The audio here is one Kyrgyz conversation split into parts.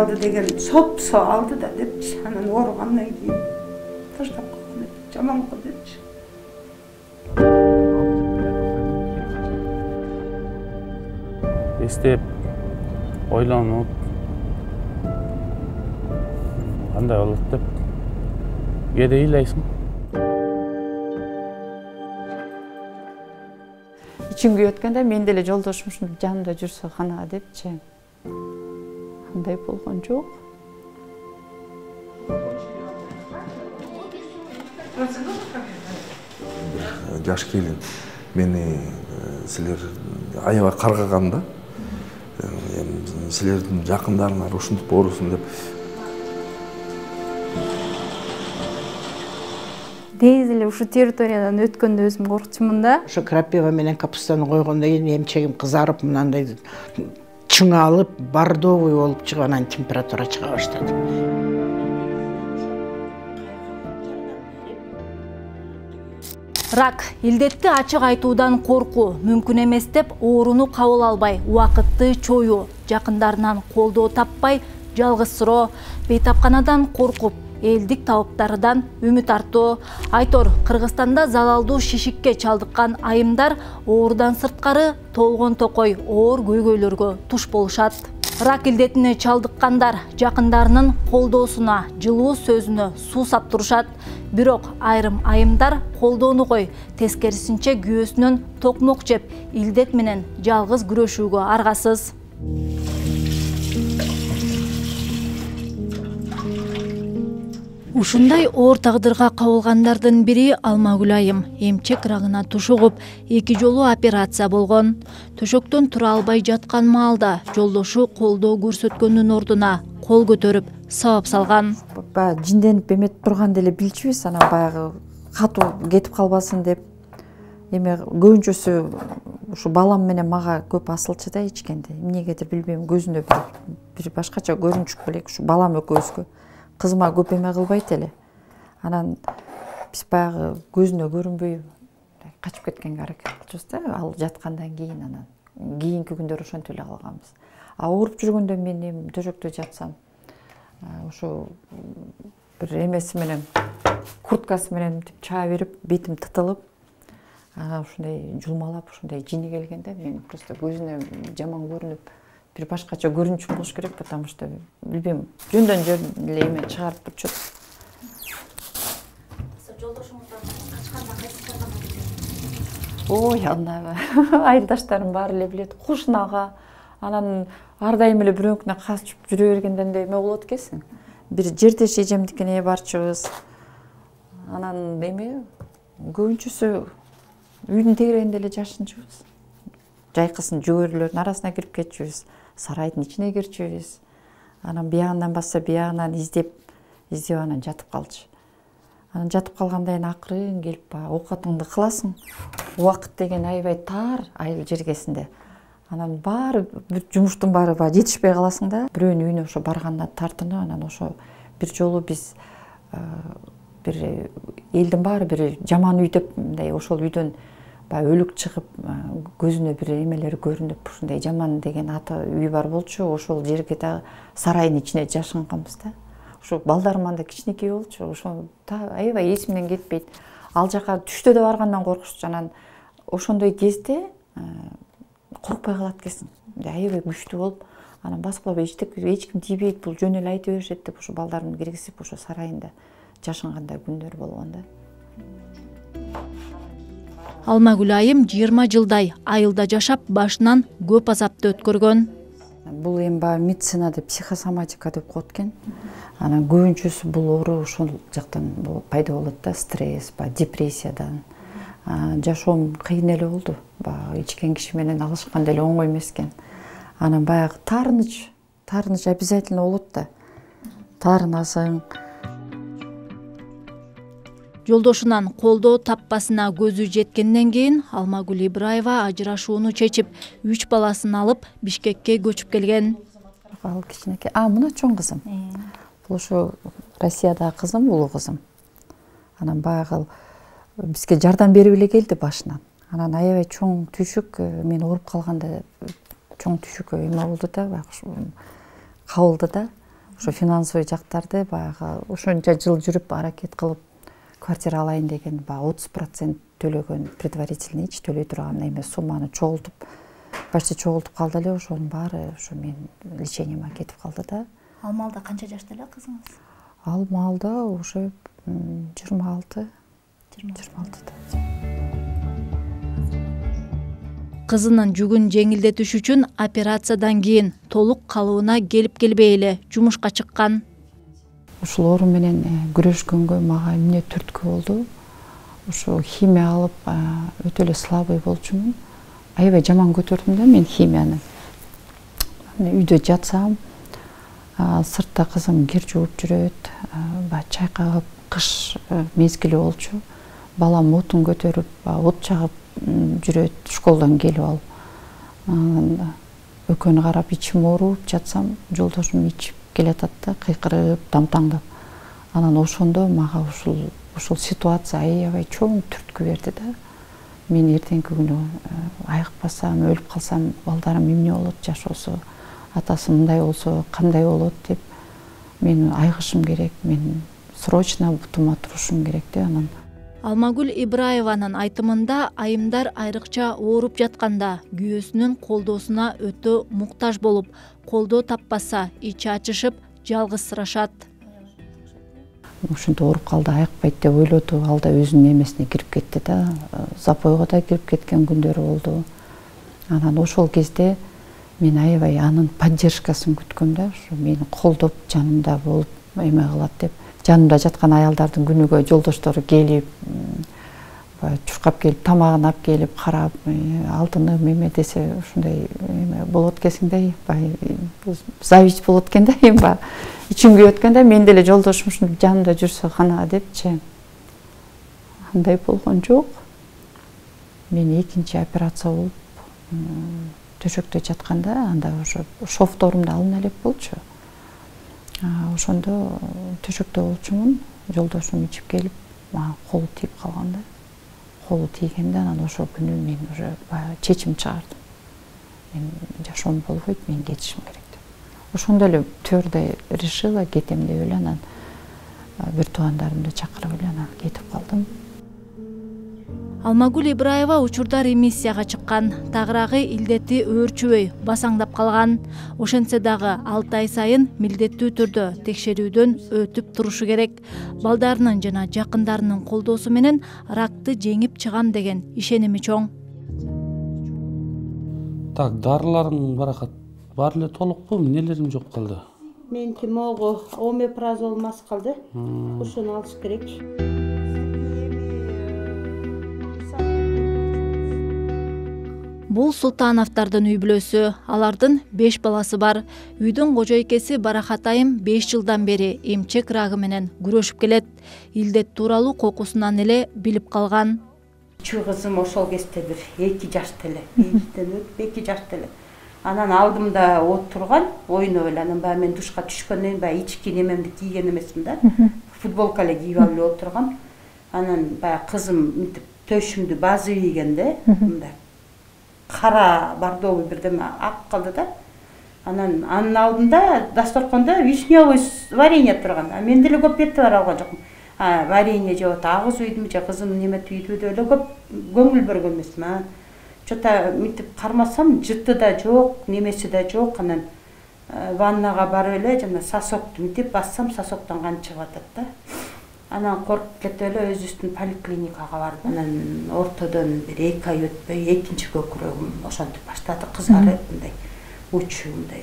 алды деген сопсо алды да депчи. Анан ооругандан кийин таштап койгон эди. Жаман го депчи. Эстеп, ойлонуп, кандай болот деп кээде ыйлайсың. Ичим күйүп атканда мен деле жолдошум ушинтип жанымда жүрсө кана депчи. Андай болгон жок. Жаш келин мени силер аябай каргаган да. Силердин жакындарыңар ушинтип оорусун деп. Негизи эле ушу территориядан өткөндө өзүм коркчумун да. Ошо крапива менен капустаны койгондон кийин эмчегим кызарып, мынандай чыңалып, бордовый болуп чыгып, анан температура чыга баштады. Рак илдетти ачык айтуудан коркуу, мүмкүн эмес деп ооруну кабыл албай, убакытты чоюу, жакындарынан колдоо таппай, жалгызсыроо, бейтапканадан коркуп, элдик табыптарыдан үмүт артуу. Айтор, Кыргызстанда залалдуу шишикке чалдыккан айымдар оорудан сырткары толгон токой оор көйгөйлөргө туш болушат. Рак илдетине чалдыккандар жакындарынын колдоосуна, жылуу сөзүнө суу сап турушат. Бирок айрым айымдар колдоону кой, тескерисинче күйөөсүнөн токмок жеп, илдет менен жалгыз күрөшүүгө аргасыз. Ушундай оор тагдырга кабылгандардын бири Алмагүл айым. Эмчек рагына тушугуп, 2 жолу операция болгон. Төшөктөн тура албай жаткан маалда жолдошу колдоо көрсөткөндүн ордуна кол көтөрүп, сабап салган. Баягы жинденип эметип турган деле билчүбүз, анан баягы катуу кетип калбасын деп. Эме көбүнчөсү ушу балам менен мага көп асылчу да ичкенде. Эмнегедир билбейм, көзүнө бир башкача көрүнүш элек ушу балам экөөбүзгө. Кызыма көп эме кылбайт эле. Анан биз баягы көзүнө көрүнбөй качып кеткенге аракет кылчубуз да, ал жаткандан кийин анан кийинки күндөр ошентип эле калганбыз. Ооруп жүргөндө мен эми төшөктө жатсам, ошо бир эмеси менен, курткасы менен мынтип чаа берип, бетим тытылып, ушундай жулмалап, ушундай жини келгенде мен просто көзүнө жаман көрүнүп, бир башкача көрүнүш болуш керек, потому что билбейм, жөндөн жөн эле эме чыгарып турчу. Жолдошуңуздан качканда кайсы жагына кетет? Ой, аны айылдаштарым баары эле билет. Кушунага, анан ар дайым эле бирөөнкүнө качып жүрө бергенден да эме болот экенсиң. Бир жердеш эжемдикине барчубуз. Анан эме көбүнчөсү үйдүн тегерегинде эле жашынчубуз. Жайкысын жөгөрлөрдүн арасына кирип кетчүбүз. Сарайдын ичине кирчүбүз. Анан биягынан басса биягынан издеп анан жатып калчу. Анан жатып калгандан кийин акырын келип оокатыңды кыласың. Убакыт деген аябай тар айыл жергесинде. Анан баары жумуштун баары жетишпей каласың да. Бирөөнүн үйүнө ошо баргандан тартынып, анан ошо бир жолу биз бир элдин баары бир жаман үй деп мындай ошол үйдөн өлүк чыгып, көзүнө бир эмелери көрүнүп, ушундай жаман деген аты үй бар болчу. Ошол жерге да сарайдын ичине жашынганбыз да. Ошо балдарым анда кичинекей болчу. Ошо аябай эсимден кетпейт. Ал жака түштө да баргандан коркучу. Анан ошондой кезде коркпой калат экенсиң. Аябай күчтүү болуп, анан баскылап эч ким тийбейт, бул жөн эле айта беришет деп ошо балдарымды киргизип ошо сарайында жашынгандай күндөр болгон да. Алмагүл айым 20 жылдай айылда жашап, башынан көп азапты өткөргөн. Бул эми баягы медицинада психосоматика деп коет экен. Анан көбүнчөсү бул оору ошол жактан пайда болот да, стресс, депрессиядан. Жашоом кыйын эле болду. Баягы ичкен киши менен алышкан деле оңой эмес экен. Анан баягы таарыныч обязательно болот да. Таарынасың. Жолдошунан колдоо таппасына көзү жеткенден кийин Алмагүл Ибраева ажырашууну чечип, 3 баласын алып Бишкекке көчүп келген. Ал кичинекей. Мына чоң кызым. Бул ошо Россиядагы кызым, улуу кызым. Анан баягы бизге жардам берип эле келди башынан. Анан аябай чоң түйшүк, мен ооруп калганда чоң түйшүккө эме болду да, кабылды да. ошо финансовый жактарды баягы ошончо жыл жүрүп аракет кылып квартира алайын деген баягы 30% төлөгөн предварительныйчи төлөй турган эме сумманы чогултуп почти чогултуп калды эле. Ошонун баары ошо менин лечениема кетип калды да. Ал маалда канча жашта эле кызыңыз? Ал маалда уже 26. Кызынын жүгүн жеңилдетиш үчүн операциядан кийин толук калыбына келип келбей эле жумушка чыккан. Ушул оору менен күрөшкөнгө мага эмне түрткү болду. Ошо химия алып өтө эле слабый болчумун. Аябай жаман көтөрдүм да мен химияны. Үйдө жатсам, сыртта кызым кир жууп жүрөт, чайкап, кыш мезгили болчу. Балам отун көтөрүп, от чагып жүрөт школдон келип алып. Өкөнү карап ичим ооруп жатсам, жолдошум ичип келатат да, кыйкырып, тамтаңдап. Анан ошондо мага ушул ситуация аябай чоң түрткү берди да. Мен эртеңки күнү айыкпасам, өлүп калсам, балдарым эмне болот, жашоосу, атасы мындай болсо кандай болот деп мен айыгышым керек, мен срочно бутума турушум керек деп. Анан Алмагүл Ибраеванын айтымында айымдар айрыкча ооруп жатканда күйөөсүнүн колдоосуна өтө муктаж болуп, колдоо таппаса ичи ачышып, жалгызсырашат. Ушинтип ооруп калды, айыкпайт деп ойлоду. Ал да өзүнүн эмесине кирип кетти да. Запойго да кирип кеткен күндөрү болду. Анан ошол кезде мен аябай анын поддержкасын күткөм да. Ушу мени колдоп, жанымда болуп эме кылат деп. Жанымда жаткан аялдардын күнүгө жолдоштору келип, чуркап келип, тамагын алып келип, карап, алтыным эме десе ушундай эме болот экенсиң да, зависть болот экен да, эми ичим күйөт экен да, мен деле жолдошум ушинтип жанымда жүрсө кана депчи. Андай болгон жок. Мен экинчи операция болуп, төшөктө жатканда, анда ошо шовторумду алына элек болчу. Ошондо төшөктө болчумун, жолдошум ичип келип, мага колу тийип калган да. Колу тийгенде анан ошол күнү мен уже чечим чыгардым. Мен жашоом болбойт, мен кетишим керек деп. Ошондо эле твердо решила кетем деп эле анан бир туугандарымды чакырып эле анан кетип калдым. Алмагүл Ибраева учурда ремиссияга чыккан, тагыраагы илдети өөрчүбөй, басаңдап калган. Ошентсе дагы 6 ай сайын милдеттүү түрдө текшерүүдөн өтүп турушу керек. Балдарынын жана жакындарынын колдоосу менен ракты жеңип чыгам деген ишеними чоң. Так, дарыларың баракат бар эле толукпу, эмнелерим жок калды? Меники могу омепразол мас калды. Ушуну алыш керек. Бул Султановдордун үй бүлөсү, алардын 5 баласы бар. Үйдүн кожойкеси Барахат айым 5 жылдан бери эмчек рагы менен күрөшүп келет. Илдет тууралуу кокусунан эле билип калган. Чүй кызым ошол кезде бир 2 жашта эле, 2 жашта эле. Анан алдымда отурган, ойноп эле, анан баягы мен душка түшкөндөн баягы ички немемди кийген эмесмин да. Футболка эле кийип алып эле отургам. Анан баягы кызым мынтип төшүмдү базы ийгенде, мындай кара бордовый бирдеме ак калды да. Анан анын алдында дасторкондо вишневый варенье турган. Мен деле көп эътибар алган жокмун. Варенье жеп атат, агыз үйдүмү же кызым неметип үйдү деле көп көңүл бөлгөн эмесмин. Чота мынтип кармасам, жыты да жок, немеси да жок. Анан ваннага барып эле жана сосокту мынтип бассам, сосоктон кан чыгып атат да. Анан коркуп кетип эле өзүбүздүн поликлиникага бардым. Анан ортодон бир 2 ай өтпөй экинчи көкүрөгүм ошентип баштады, кызарып, мындай учу мындай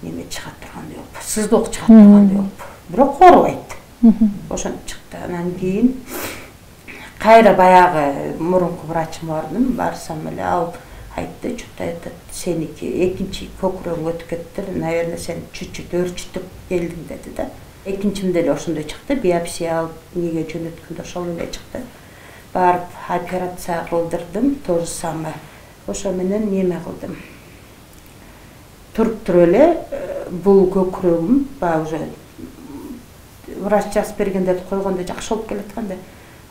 неме чыгат тургандай болуп, сыздоок чыгат тургандай болуп. Бирок оорубайт. Ошентип чыкты. Анан кийин кайра баягы мурунку врачыма бардым. Барсам эле ал айтты, что-то это сеники экинчи көкүрөгүң өтүп кетти, наверное, сен чуть-чуть өөрчүтүп келдиң деди да. Экинчимде эле ошондой чыкты, биопсия алып неге жөнөткөндө ошол эле чыкты. Барып операция кылдырдым, то же самое. Ошо менен неме кылдым. Туруп туруп эле бул көкүрөгүм баягы уже врач жазып бергенде койгондо жакшы болуп келаткан да.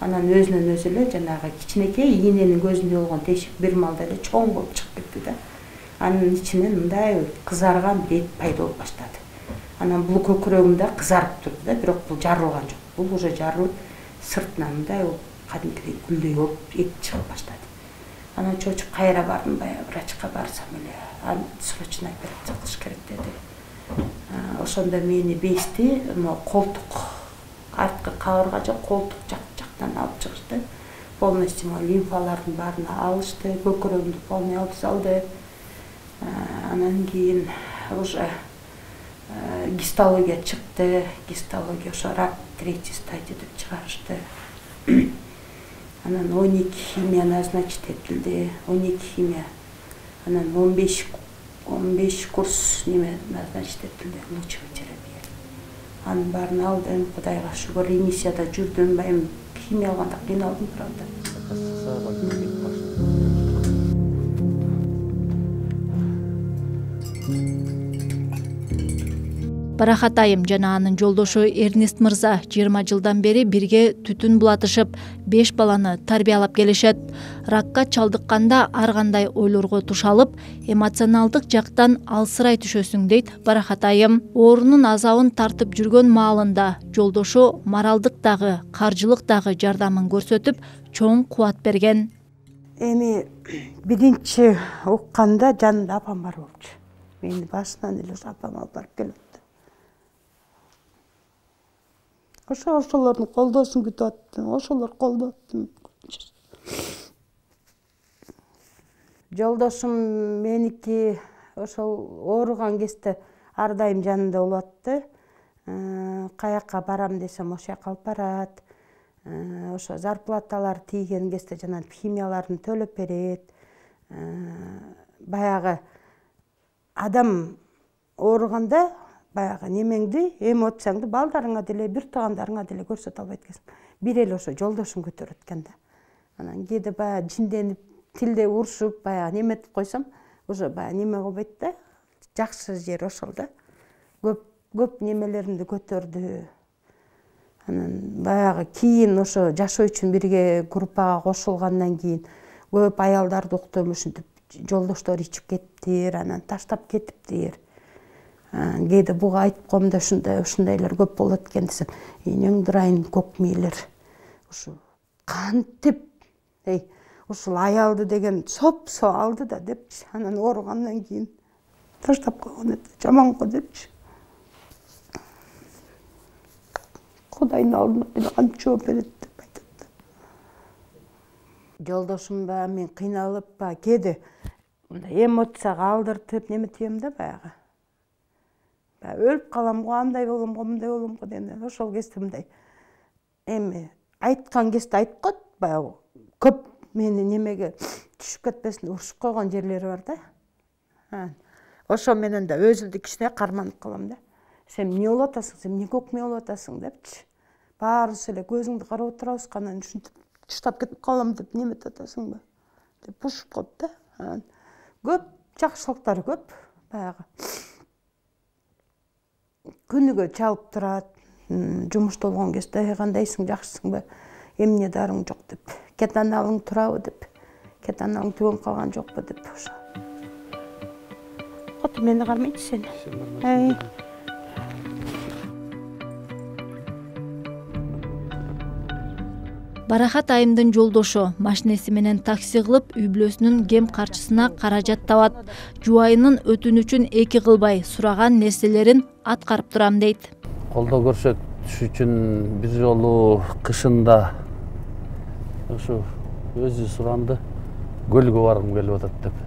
Анан өзүнөн өзү эле жанагы кичинекей ийненин көзүндө болгон тешик бир маалда эле чоң болуп чыгып кетти да. Анын ичинен мындай кызарган бир эт пайда болуп баштады. Анан бул көкүрөгүмдө кызарып турду да, бирок бул жарылган жок. Бул уже жарылып сыртынан мындай кадимкидей гүлдөй болуп эт чыгып баштады. Анан чочуп кайра бардым, баягы врачка барсам эле, аны срочно операция кылыш керек деди. Ошондо мени бести колтук, арткы кабырга жок, колтук жактан алып чыгышты. Полностью лимфалардын баарын алышты, көкүрөгүмдү полный алып салды. Анан кийин уже гистология чыкты. Гистология ошо рак 3-ти стадия деп чыгарышты. Анан 12 химия назначить этилди. 12 химия. Анан 15 курс неме назначить этилди, лучевая терапия. Анын баарын алдым, Кудайга шүгүр, ремиссияда жүрдүм, байым химия алганда кыйналдым, правда. Барахат айым жана анын жолдошу Эрнест мырза 20 жылдан бери бирге түтүн булатышып, 5 баланы тарбиялап келишет. Ракка чалдыкканда ар кандай ойлорго тушалып, эмоционалдык жактан алсырай түшөсүң дейт Барахат айым. Оорунун азабын тартып жүргөн маалында жолдошу моралдык дагы, каржылык дагы жардамын көрсөтүп, чоң кубат берген. Эми биринчи укканда жанымда апам бар болчу. Мени башынан эле апам алып барып келет. Ошолордун колдоосун күтүп аттым, ошолор колдоп аттым. Жолдошум меники ошол ооруган кезде ар дайым жанымда болуп атты. Каяка барам десем ошол жака алып барат. Ошо зарплаталар тийген кезде жана химияларын төлөп берет. Баягы адам ооруганда баягы немеңди, эмоцияңды балдарыңа деле, бир туугандарыңа деле көрсөтө албайт экенсиң. Бир эле ошо жолдошум көтөрөт экен да. Анан кээде баягы жинденип, тилде урушуп, баягы неметип койсом, уже баягы неме кылбайт да. Жакшы жери ошол да. Көп немелеримди көтөрдү. Анан баягы кийин ошо жашоо үчүн бирге группага кошулгандан кийин көп аялдарды уктум, ушинтип жолдоштор ичип кеттир, анан таштап кетиптир. Кээде буга айтып коем да, ушундайлар көп болот экен десем, энең дырайын көк мээлер. Ушу кантип, ушул аялды деген сопсо алды да депчи. Анан ооругандан кийин таштап койгон эт, жаман го депчи. Кудайдын алдында кантип жооп берет деп айтат. Жолдошум баягы мен кыйналып, кээде мындай эмоцияга алдыртып неметем да баягы. Өлүп калам го, андай болом го, мындай болом го деген. Ошол кезде мындай эми айткан кезде айтып коет, баягы көп мени немеге түшүп кетпесин урушуп койгон жерлери бар да. Ошо менен да өзүмдү кичине карманып калам да. Сен эмне болуп атасың, сен эмне көк мээ болуп атасың депчи. Баарыбыз эле көзүңдү карап отурабыз, анан ушинтип таштап кетип калам деп неметип атасыңбы деп урушуп коет да. Көп жакшылыктары көп баягы. Күнүгө чалып турат, жумушта болгон кезде кандайсың, жакшысыңбы, эмне дарың жок деп, кетаналың турабы деп, кетаналың түгөн калган жокпу деп ошо. Кот мени кармайчы сени. Барахат айымдын жолдошу машинеси менен такси кылып үй бүлөсүнүн кем карчысына каражат табат. Жубайынын өтүнүчүн эки кылбай сураган нерселерин аткарып турам дейт. Колдоо көрсөтүш үчүн бир жолу кышында ушу өзү суранды, көлгө баргым келип атат деп.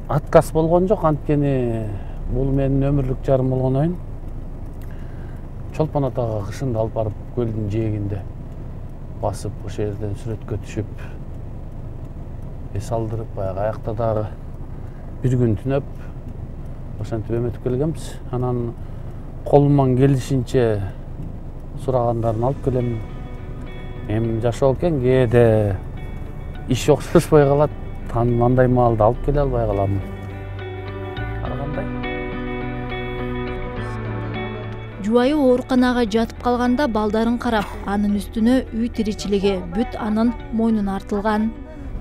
Отказ болгон жок, анткени бул менин өмүрлүк жарым болгон оюн. Чолпон атага кышында алып барып көлдүн жээгинде басып, ошол жерден сүрөткө түшүп, эс алдырып, баягы аякта дагы бир күн түнөп, ошентип эметип келгенбиз. Анан колуман келишинче сурагандарын алып келем. Эми жашоо экен, кээде иш окшошпой калат, андай маалда алып келе албай калам. Ар кандай? Жубайы ооруканага жатып калганда балдарын карап, анын үстүнө үй тиричилиги бүт анын мойнуна артылган.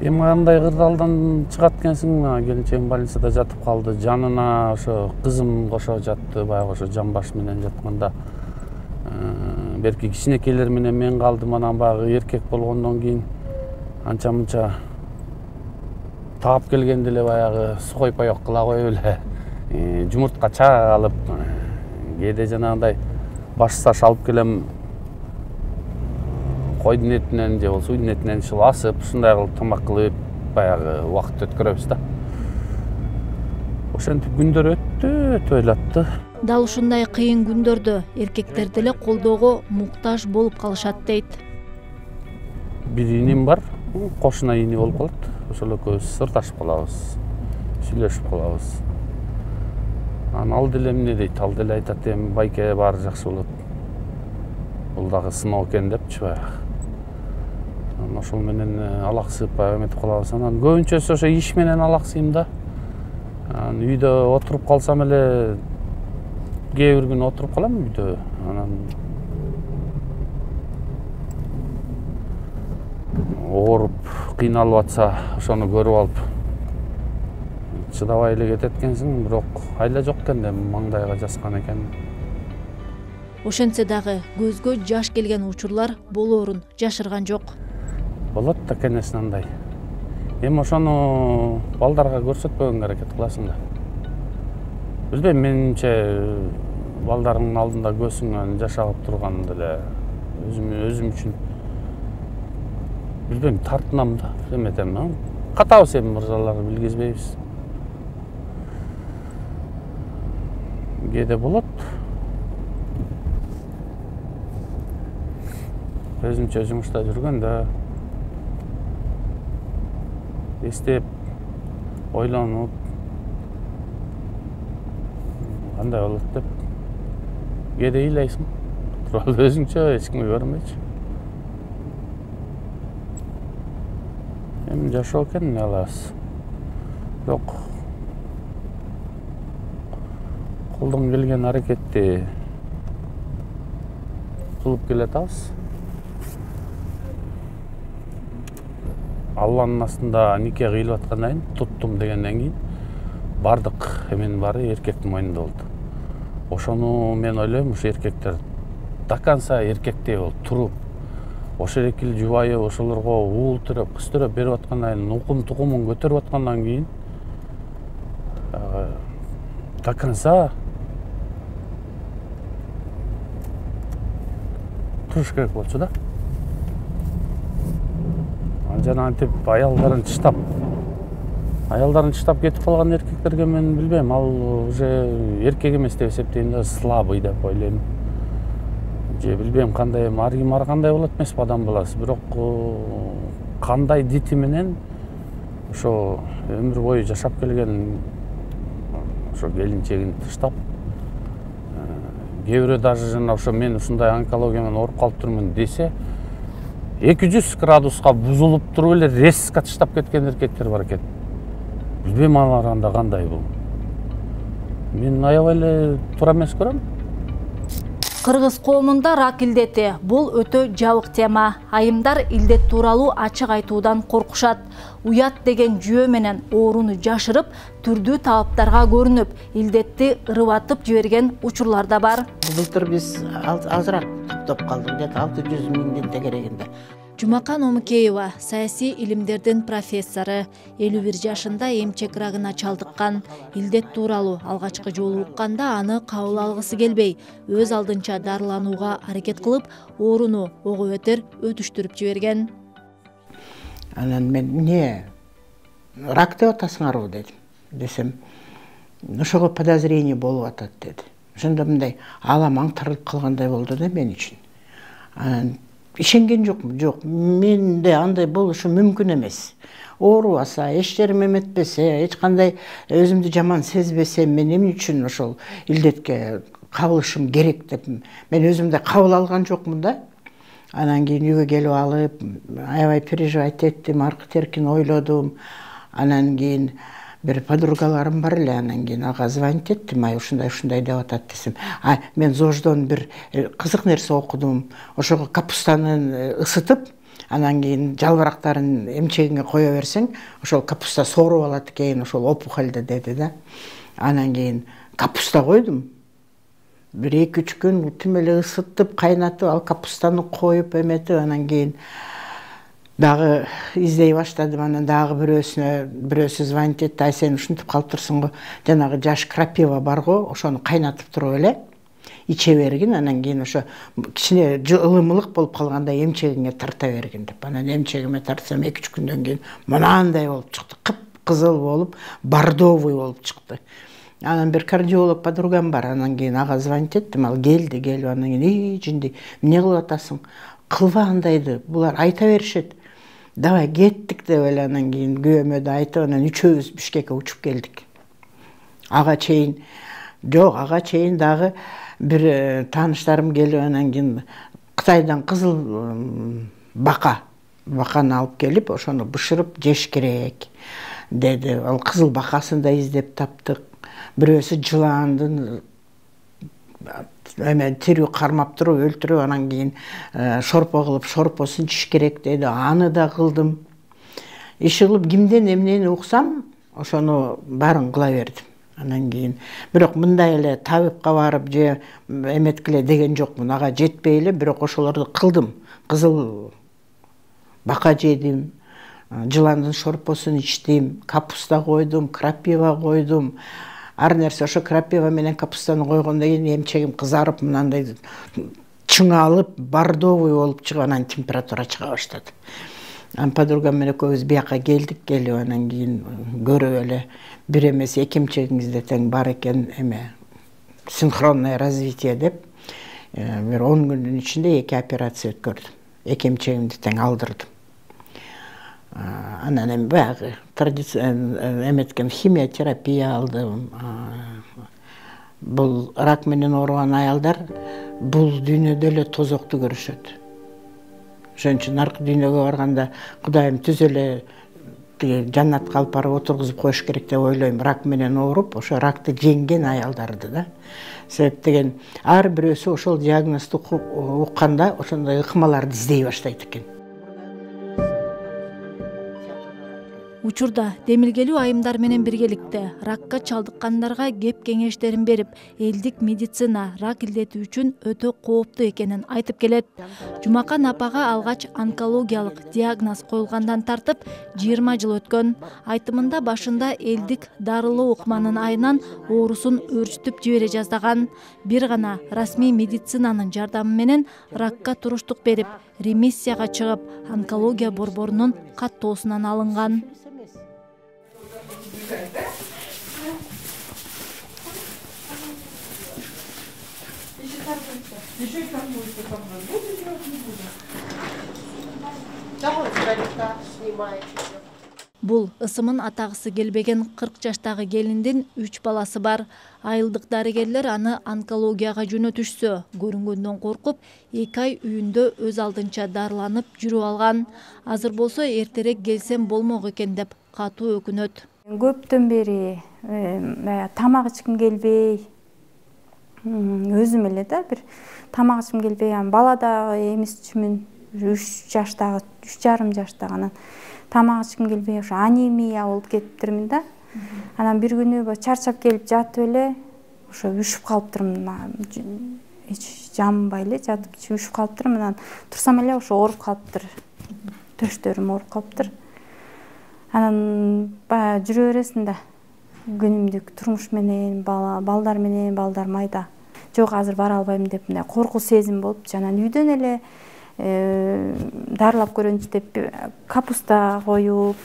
Эми кандай кырдаалдан чыгат экенсиң? Келинчегим больницада жатып калды. Жанына ошо кызым кошо жатты. Баягы ошо жамбаш менен жатканда берки кичинекейлер менен мен калдым. Анан баягы эркек болгондон кийин анча мынча таап келгенде эле баягы сухой паёк кыла коюп эле жумуртка чаалып, кээде жанагындай баш саш алып келем, койдун этинен же болбосо үйдүн этинен ушул асып, ушундай кылып тамак кылып баягы убакыт өткөрөбүз да. Ошентип күндөр өтүп ыйлатты. Дал ушундай кыйын күндөрдө эркектер деле колдоого муктаж болуп калышат дейт. Бир иним бар, кошуна ини болуп калат. Ошол экөөбүз сырдашып калабыз, сүйлөшүп калабыз. Анан ал деле эмне дейт, ал деле айтат, эми байке баары жакшы болот. Бул дагы сыноо экен депчи баягы. Анан ошол менен алаксып баягы эметип калабыз. Анан көбүнчөсү ошо иш менен алаксыйм да. Анан үйдө отуруп калсам эле кээ бир күн отуруп калам үйдө. Анан ооруп, кыйналып атса, ошону көрүп алып чыдабай эле кетет экенсиң, бирок айла жок экен да, маңдайга жазган экен. Ошентсе дагы көзгө жаш келген учурлар болоорун жашырган жок. Болот да, конечно, андай. Эми ошону балдарга көрсөтпөгөнгө аракет кыласың да. Билбейм, менимче балдарыңдын алдында көзүңөн жаш агып турган деле өзүм үчүн билбейм, тартынам да, эметем. Катабыз эми мырзалар, билгизбейбиз. Кээде болот. Өзүмчө жумушта жүргөндө эстеп, ойлонуп, кандай болот деп кээде ыйлайсың. Туруп алып өзүңчө, эч кимге көрүнбөйчү. Эми жашоо экен, эмне кылабыз? Бирок колдон келген аракетти кылып келатабыз. Алланын астында нике кыйылып аткандан кийин, туттум дегенден кийин бардык эменин баары эркектин мойнунда болду. Ошону мен ойлойм, ушу эркектер до конца эркектей болуп туруп, ошол экил жубайы ошолорго уул төрөп, кыз төрөп берип аткандан кийин, укум тукумун көтөрүп аткандан кийин до конца туруш керек болчу да. Жана антип аялдарын тыштап кетип калган эркектерге мен билбейм, ал уже эркек эмес деп эсептейм да, слабый деп ойлойм. Же билбейм, кандай ар ким ар кандай болот эмеспи адам баласы, бирок кандай дити менен ошо өмүр бою жашап келген ошо келинчегин тыштап, кээ бирөө даже жана ошо мен ушундай онкология менен ооруп калып турмун десе, 200 градуска бузулуп туруп эле резко тыштап кеткен эркектер бар экен. Билбейм алар анда кандай бул. Мен аябай эле туура эмес көрөм. Кыргыз коомунда рак илдети бул өтө жабык тема. Айымдар илдет тууралуу ачык айтуудан коркушат. Уят деген жүйө менен ооруну жашырып, түрдүү тааптарга көрүнүп, илдетти ырыбатып жиберген учурлар да бар. Былтыр биз азыраак топтоп калдык, где-то 600 миңден тегерегинде. Жумакан Омукеева саясий илимдердин профессору, 51 жашында эмчек рагына чалдыккан. Илдет тууралуу алгачкы жолу укканда аны кабыл алгысы келбей, өз алдынча дарыланууга аракет кылып, ооруну ого бетер өтүштүрүп жиберген. Анан мен эмне рак деп атасыңарбы дедим. Десем, ошого подозрение болуп атат деди. Ошондо мындай алам аңтарылып калгандай болду да мен үчүн. Анан ишенген жокмун, жок, менде андай болушу мүмкүн эмес. Оорубаса, эч жерим эметпесе, эч кандай өзүмдү жаман сезбесем, мен эмне үчүн ошол илдетке кабылышым керек деп мен өзүмдү кабыл алган жокмун да. Анан кийин үйгө келип алып, аябай переживать эттим, аркы теркин ойлодум. Анан кийин бир подругаларым бар эле, анан кийин ага звонить эттим, ушундай деп атат десем. Мен ЗОЖдон бир кызык нерсе окудум. Ошого капустаны ысытып, Анан кийин жалбырактарын эмчегиңе кое берсең, ошол капуста сооруп алат экен, ошол опухолду деди да. Анан кийин капуста койдум. 1-2-3 күн тим эле ысытып, кайнатып, ал капустаны коюп эметип, анан кийин дагы издей баштадым. Анан дагы бирөөсү звонить этти, ай сен ушинтип калыптырсың го, жанагы жаш крапива бар го, ошону кайнатып туруп эле иче бергин, анан кийин ошо кичине ылымылык болуп калганда эмчегиңе тарта бергин деп. Анан эмчегиме тартсам 2-3 күндөн кийин мынандай болуп чыкты, кып-кызыл болуп, бордовый болуп чыкты. Анан бир кардиолог подругам бар, анан кийин ага звонить эттим, ал келди, келип анан кийин жинди, эмне кылып атасың? Кылба андайды, булар айта беришет. Давай кеттик деп эле анан кийин күйөөмө да айтып, анан үчөөбүз Бишкекке учуп келдик. Ага чейин дагы бир тааныштарым келип, анан кийин Кытайдан кызыл баканы алып келип, ошону бышырып жеш керек деди. Ал кызыл бакасын да издеп таптык. Бирөөсү жыландын тирүү кармап туруп өлтүрүп, анан кийин шорпо кылып шорпосун чиш керек деди. Аны да кылдым. Иши кылып кимден эмнени уксам, ошону баарын кыла бердим. Анан кийин бирок мындай эле табипка барып же эметкиле деген жокмун. Ага жетпей эле, бирок ошолорду кылдым. Кызыл бака жедим, жыландын шорпосун ичтим, капуста койдум, крапива койдум. Ар нерсе ошо крапива менен капустаны койгондон кийин эмчегим кызарып, мынандай чыңалып, бордовый болуп чыгып, анан температура чыга баштады. Анан подругам менен экөөбүз бияка келдик, келип анан кийин көрүп эле бир эмес эки эмчегиңизде тең бар экен, синхронное развитие деп, бир 10 күндүн ичинде 2 операция өткөрдүм. Эки эмчегимди тең алдырдым. Анан баягы эметкен химиотерапия алдым. Бул рак менен ооруган аялдар бул дүйнөдө эле тозокту көрүшөт. Ошон үчүн аркы дүйнөгө барганда Кудайым түз эле жаннатка алып барып отургузуп коюш керек деп ойлойм. Рак менен ооруп, ошо ракты жеңген аялдарды да. Себеп деген ар бирөөсү ошол диагнозду укканда ошондой ыкмаларды издей баштайт экен. Учурда демилгелүү айымдар менен биргеликте ракка чалдыккандарга кеп кеңештерин берип, элдик медицина рак илдети үчүн өтө кооптуу экенин айтып келет. Жумакан апага алгач онкологиялык диагноз коюлгандан тартып 20 жыл өткөн. Айтымында башында элдик дарылоо ыкманын айынан оорусун өрчүтүп жибере жаздаган. Бир гана расмий медицинанын жардамы менен ракка туруштук берип, ремиссияга чыгып, онкология борборунун каттоосунан алынган. Бул ысымын атагысы келбеген 40 жаштагы келиндин 3 баласы бар. Айылдык дарыгерлер аны онкологияга жөнөтүшсө, көрүнгөндөн коркуп, 2 ай үйүндө өз алдынча дарыланып жүрүп алган. Азыр болсо эртерээк келсем болмок экен деп катуу өкүнөт. Көптөн бери тамак ичким келбей, өзүм эле да бир тамак ичким келбей, бала дагы эмизчүмүн, 3 жаштагы, 3,5 жаштагы, анан тамак ичким келбей, ошо анемия болуп кетиптирмин да. Анан бир күнү чарчап келип жатып эле, ошо үшүп калыптырмын, эч жамбай эле жатып үшүп калыптырмын. Анан турсам эле ошо ооруп калыптыр, төштөрүм ооруп калыптыр. Анан баягы жүрө бересиң да, күнүмдүк турмуш менен, балдар менен, балдар майда. Жок, азыр бара албайм деп мындай коркуу сезим болуп, анан үйдөн эле дарылап көрөйүнчү деп капуста коюп,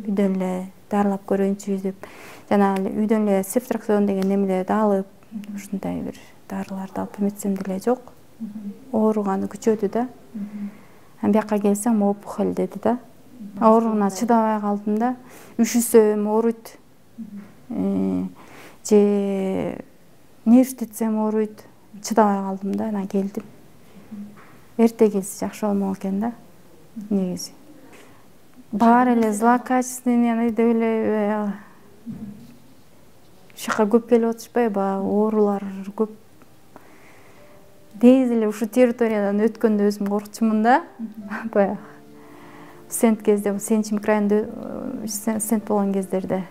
үйдөн эле дарылап көрөйүнчү деп, жана үйдөн эле септраксон деген немелерди алып, ушундай бир дарыларды алып эметсем деле жок. Ооруганы күчөдү да. Анан бияка келсем опухоль деди да. Ооругуна чыдабай калдым да. Үшүсөм ооруйт. Же нервтетсем ооруйт. Чыдабай калдым да, анан келдим. Эрте келсе жакшы болмок экен да. Негизи. Бар эле злокачественный деп эле ушака көп келип отурушпайбы, оорулар көп. Тез эле ушу территориядан өткөндө өзүм коркчумун да. Баягы стенд кезде, Сенчи микрорайонунда стенд болгон кездерде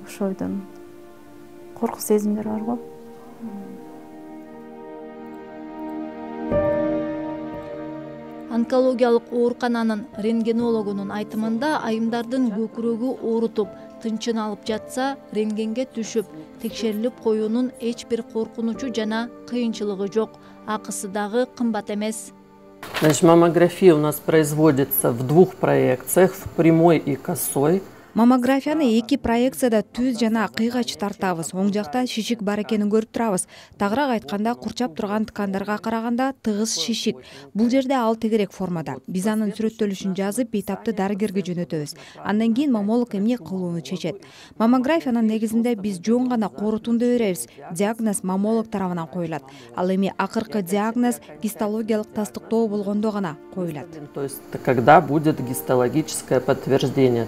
ошойдон коркуп сезимдер бар го. Онкологиялык оорукананын рентгенологунун айтымында айымдардын көкүрөгү оорутуп, тынчын алып жатса, рентгенге түшүп, текшерилип коюунун эч бир коркунучу жана кыйынчылыгы жок. Акысы дагы кымбат эмес. Значит, маммография у нас производится в 2 проекциях, в прямой и косой. Маммографияны 2 проекцияда түз жана кыйгач тартабыз. Оң жакта шишик бар экенин көрүп турабыз. Тагыраак айтканда, курчап турган ткандарга караганда тыгыз шишик. Бул жерде ал тегерек формада. Биз анын сүрөттөлүшүн жазып, бейтапты дарыгерге жөнөтөбүз. Андан кийин маммолог эмне кылууну чечет. Маммографиянын негизинде биз жөн гана корутунду беребиз. Диагноз маммолог тарабынан коюлат. Ал эми акыркы диагноз гистологиялык тастыктоо болгондо гана коюлат. То есть, когда будет гистологическое подтверждение.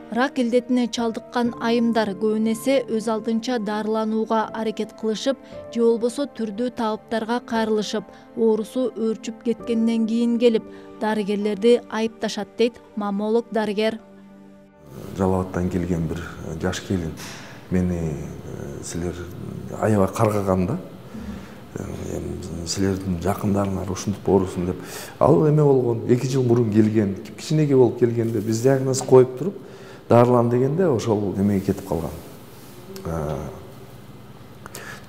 Рак илдетине чалдыккан айымдар көбүн эсе өз алдынча дарыланууга аракет кылышып, же болбосо түрдүү табыптарга кайрылышып, оорусу өөрчүп кеткенден кийин келип, дарыгерлерди айыпташат дейт маммолог дарыгер. Жалал Абадтан келген бир жаш келин мени силер аябай каргаганда, силердин жакындарыңар ушинтип оорусун деп, ал эме болгон 2 жыл мурун келген, кичинекей болуп келгенде биз диагноз коюп туруп дарылан дегенде ошол эмеге кетип калган.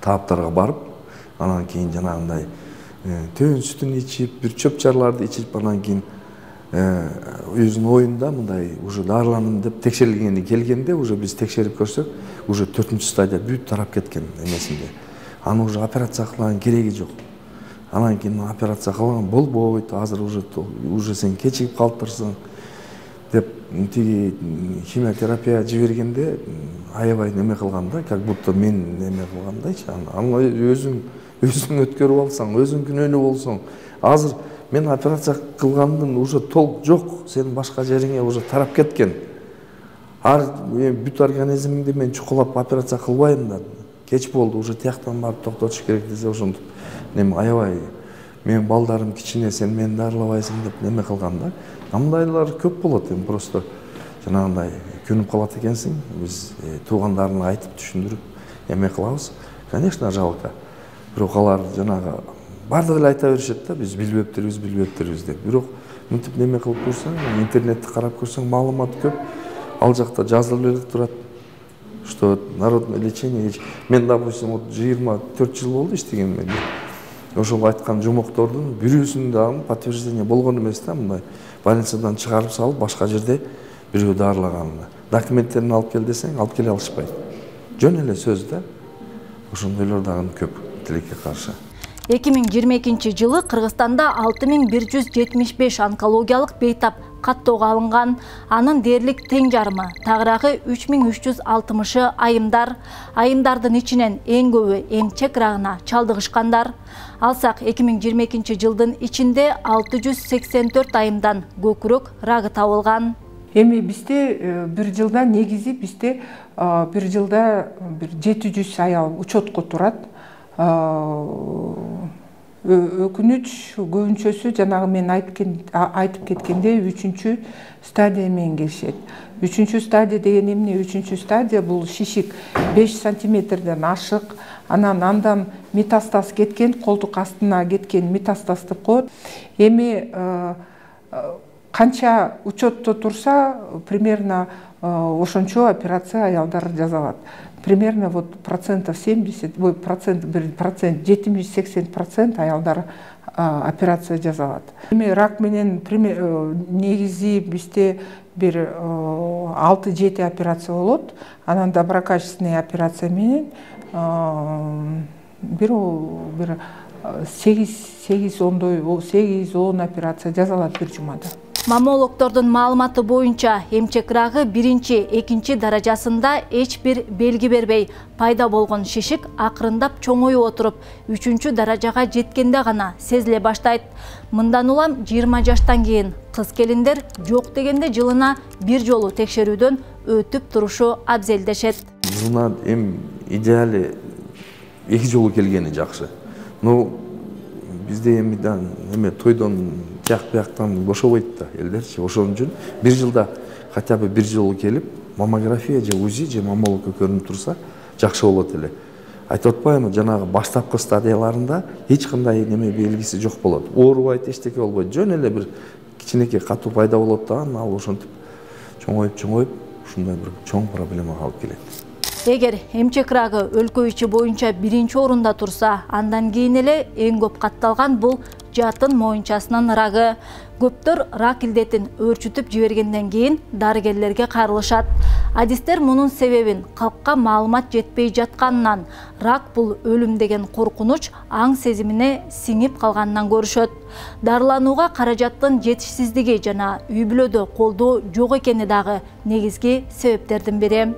Таптарга барып, анан кийин жанагындай төн сүтүн ичип, бир чөп-чарларды ичип, анан кийин өзүнүн оюнда мындай уже дарыланам деп текшерилгени келгенде, уже биз текшерип көрсөк, уже 4-чү стадия бүт тарап кеткен эмесинде. Аны уже операция кылган кереги жок. Анан кийин операция кылган болбойт, азыр уже сен кечигип калыптырсың деп тиги химиотерапия жибергенде аябай неме кылганда, как будто мен неме кылгандайчы. Аны өзүң өткөрүп алсаң, өзүң күнөөнүү болсоң, азыр мен операция кылгандын уже толк жок, сенин башка жериңе уже тарап кеткен. Бүт организмиңди мен чукулап операция кылбайм да. Кеч болду, уже тияктан барып токтотуш керек десе, ошентип неме аябай мен балдарым кичине, сен мени дарылабайсың деп неме кылганда, мындайлар көп болот. Эми просто жанагындай күнүп калат экенсиң, биз туугандарына айтып түшүндүрүп эме кылабыз. Конечно, жалко. Бирок алар жанагы бардыгы эле айта беришет да, биз билбептирбиз деп. Бирок мынтип неме кылып көрсөң, интернетти карап көрсөң, маалымат көп. Ал жакта жазылып эле турат, что народное лечение. Мен, допустим, 24 жыл болду иштегенме. Ошол айткан жомоктордун бирөөсүндө дагы подтверждение болгон эмес да, мындай больницадан чыгарып салып, башка жерде бирөө дарылаганына. Документтерин алып кел десең, алып келе алышпайт. Жөн эле сөз да. Ошондойлор дагы көп тилекке каршы. 2022 жылы Кыргызстанда 6175 онкологиялык бейтап каттоого алынган. Анын дээрлик тең жарымы, тагыраагы 3360-ы айымдар. Айымдардын ичинен эң көбү эмчек рагына чалдыгышкандар. Алсак 2022 жылдын ичинде 684 айымдан көкүрөк рагы табылган. Эми бизде бир жылда негизи бизде бир жылда бир 700 аял учетко турат. Өкүнүч көбүнчөсү жанагы мен айтып кеткенде 3-чү стадия менен келишет. 3-чү стадия деген эмне? 3-чү стадия бул шишик 5 сантиметрден ашык, андан метастаз кеткен, колдук астына кеткен метастаз деп коет. Эми канча учетто турса, примерно ошончо операция аялдар жасалат. Примерно вот процентов 70, процент 70-80% аялдар операция жасалат. Эми рак менен негизи бизде бир 6-7 операция болот. Анан доброкачественный операция менен бир 8-10 операция жасалат бир жумада. Маммологдордун маалыматы боюнча эмчек рагы 1-2 даражасында эч бир белги бербей пайда болгон шишик акырындап чоңоюп отуруп 3-чү даражага жеткенде гана сезиле баштайт. Мындан улам 20 жаштан кийин кыз келиндер жок дегенде жылына бир жолу текшерүүдөн өтүп турушу абзел дешет. Жылына эми идеали 2 жолу келгени жакшы. бизде эми эме тойдон тияк бияктан бошобойт да элдерчи. Ошон үчүн бир жылда хотя бы бир жолу келип маммография же УЗИ же маммология көрүнүп турса жакшы болот эле. Айтып атпаймынбы, жанагы баштапкы стадияларында эч кандай неме белгиси жок болот. Оорубайт, эчтеке болбойт. Жөн эле бир кичинекей катуу пайда болот да, ал ошентип чоңоюп ушундай бир чоң проблемага алып келет. Эгер эмчек рагы өлкө ичи боюнча биринчи орунда турса, андан кийин эле эң көп катталган бул жатын моюнчасынын рагы. Көптөр рак илдетин өөрчүтүп жибергенден кийин дарыгерлерге кайрылышат. Адистер мунун себебин калкка маалымат жетпей жатканынан, рак бул өлүм деген коркунуч аң сезимине сиңип калганынан көрүшөт. Дарыланууга каражаттын жетишсиздиги жана үй бүлөдө колдоо жок экени дагы негизги себептердин бири.